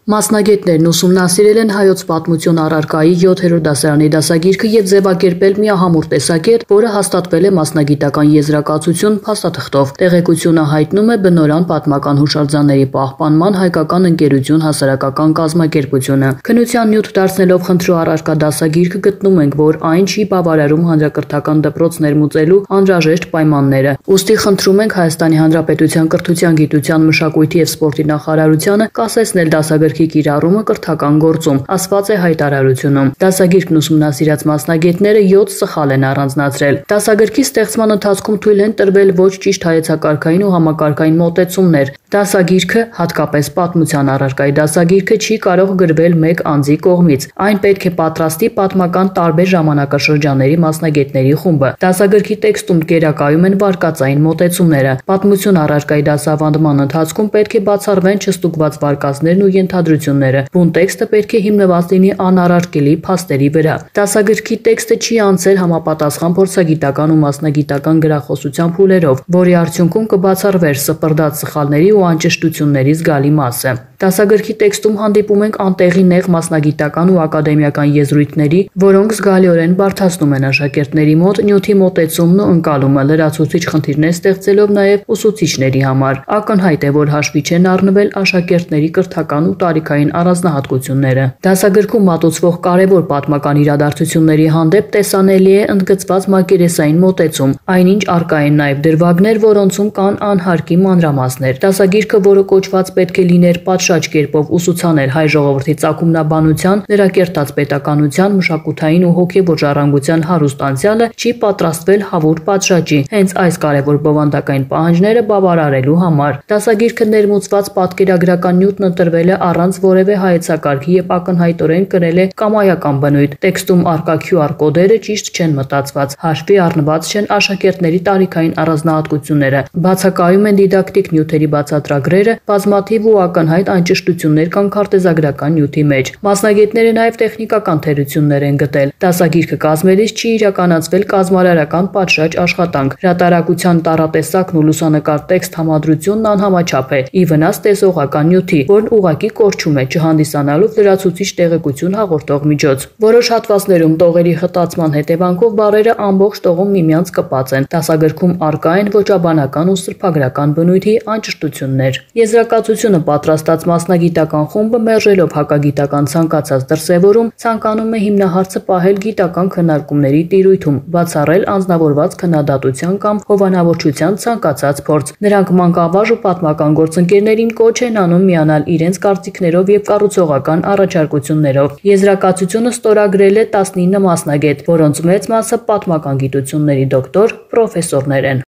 Մասնագետներն ուսումնասիրել են հայոց պատմություն առարկայի 7-րդ դասարանի դասագիրքը եւ ձևակերպել միահամուռ տեսակետ, որը հաստատվել է մասնագիտական եզրակացություն փաստաթղթով։ Տեղեկությունը հայտնում է բնորան պատմական հուշարձանների պահպանման հայկական ընկերություն հասարակական կազմակերպությունը։ Քննության նյութ դարձնելով խնդրու առարկա դասագիրքը գտնում ենք, որ այն չի բավարարում հանրակրթական դպրոց ներմուծելու անհրաժեշտ պայմանները։ Ուստի խնդրում ենք Հայաստանի Հանրապետության կրթության, գիտության, մշակույթի եւ սպորտի նախարարությանը կասեցնել դասագրքի կիրառումը կրթական գործում, ասված է հայտարարությունում։ Դասագիրքն ուսումնասիրած մասնագետները 7 սխալ են առանձնացրել։ Դասագրքի ստեղծման ընթացքում թույլ են տրվել ոչ ճիշտ հայեցակարգային ու համակարգային մոտեցումներ։ Դասագիրքը, հատկապես պատմության առարկայի դասագիրքը, չի կարող գրվել մեկ անձի կողմից։ Այն պետք է պատրաստի պատմական տարբեր ժամանակաշրջանների մասնագետների խումբը։ Դասագրքի տեքստում գերակայում են վարկածային մոտեցումները։ Պատմություն առարկայի դասավանդման ընթացքում պետք է բացառվեն չստուգված վարկածներն ու ենթադրությունները։ Բուն տեքստը պետք է հիմնված լինի անառարկելի փաստերի վրա։ Դասագրքի տեքստը չի անցել համապատասխան փորձագիտական ու մասնագիտական գրախոսության փուլերով, որի արդյունքում կբացառվեր սպրդած սխալների ու անճշտությունների զգալի մասը։ Դասագրքի տեքստում հանդիպում ենք անտեղի նեղ մասնագիտական ու ակադեմիական եզրույթների, որոնք զգալիորեն բարդացնում են աշակերտների մոտ նյութի մոտեցումն ու ընկալումը, լրացուցիչ խնդիրներ ստեղծելով նաև ուսուցիչների համար։ Ակնհայտ է, որ հաշվի չեն առնվել աշակերտների կրթական ու տարիքային առանձնահատկությունները։ Դասագրքում մատուցվող կարևոր պատմական իրադարձությունների հանդեպ տեսանելի է ընդգծված մակերեսային մոտեցում, այնինչ առկա են նաև դրվագներ, որոնցում կան անհարկի մանրամասներ։ Դասագիրքը, որը կոչված պետք է լիներ պատշաճ կերպով ուսուցանել հայ ժողովրդի ծագումնաբանության, նրա կերտած պետականության, մշակութային ու հոգևոր ժառանգության հարուստ անցյալը, չի պատրաստվել հավուր պատշաճի, հենց այս կարևոր բովանդակային պահանջները բավարարելու համար։ Դասագիրքը ներմուծված պատկերագրական նյութն ընտրվել է առանց որևէ հայեցակարգի եւ ակնհայտորեն կրել է կամայական բնույթ։ Տեքստում առկա QR կոդերը ճիշտ չեն մտածված, հաշվի առնված չեն աշակերտների տարիքային առանձնահատկությունները, բացակայում են դիդակտիկ նյութերի բացատրագրերը, բազմաթիվ ու ակնհայտ անճշտություններ կան քարտեզագրական նյութի մեջ։ Մասնագետները նաև տեխնիկական թերություններ են գտել։ Դասագիրքը կազմելիս չի իրականացվել կազմարարական պատշաճ աշխատանք։ Հրատարակության տառատեսակն ու լուսանկար տեքստ համադրությունն անհամաչափ է, ի վնաս տեսողական նյութի, որն ուղղակի կորչում է, չհանդիսանալով լրացուցիչ տեղեկություն հաղորդող միջոց։ Որոշ հատվածներում տողերի խտացման հետևանքով բառերը ամբողջ տողում միմյանց կպած են։ Դասագրքում առկա են ոճաբանական ու սրբագրական բնույթի անճշտություններ։ Եզրակացությունը պատրաստած մասնագիտական խումբը մերժելով հակագիտական ցանկացած դրսևորում, ցանկանում է հիմնահարցը պահել գիտական քննարկումների տիրույթում, բացառել անձնավորված քննադատության կամ հովանավորչության ցանկացած փորձ։ Նրանք մանկավարժ ու պատմական գործընկերներին կոչ են անում միանալ իրենց կարծիքներով եւ կառուցողական առաջարկություններով։ Եզրակացությունը ստորագրել է 19 մասնագետ, որոնց մեծ մասը պատմական գիտությունների դոկտոր, պրոֆեսորներ են։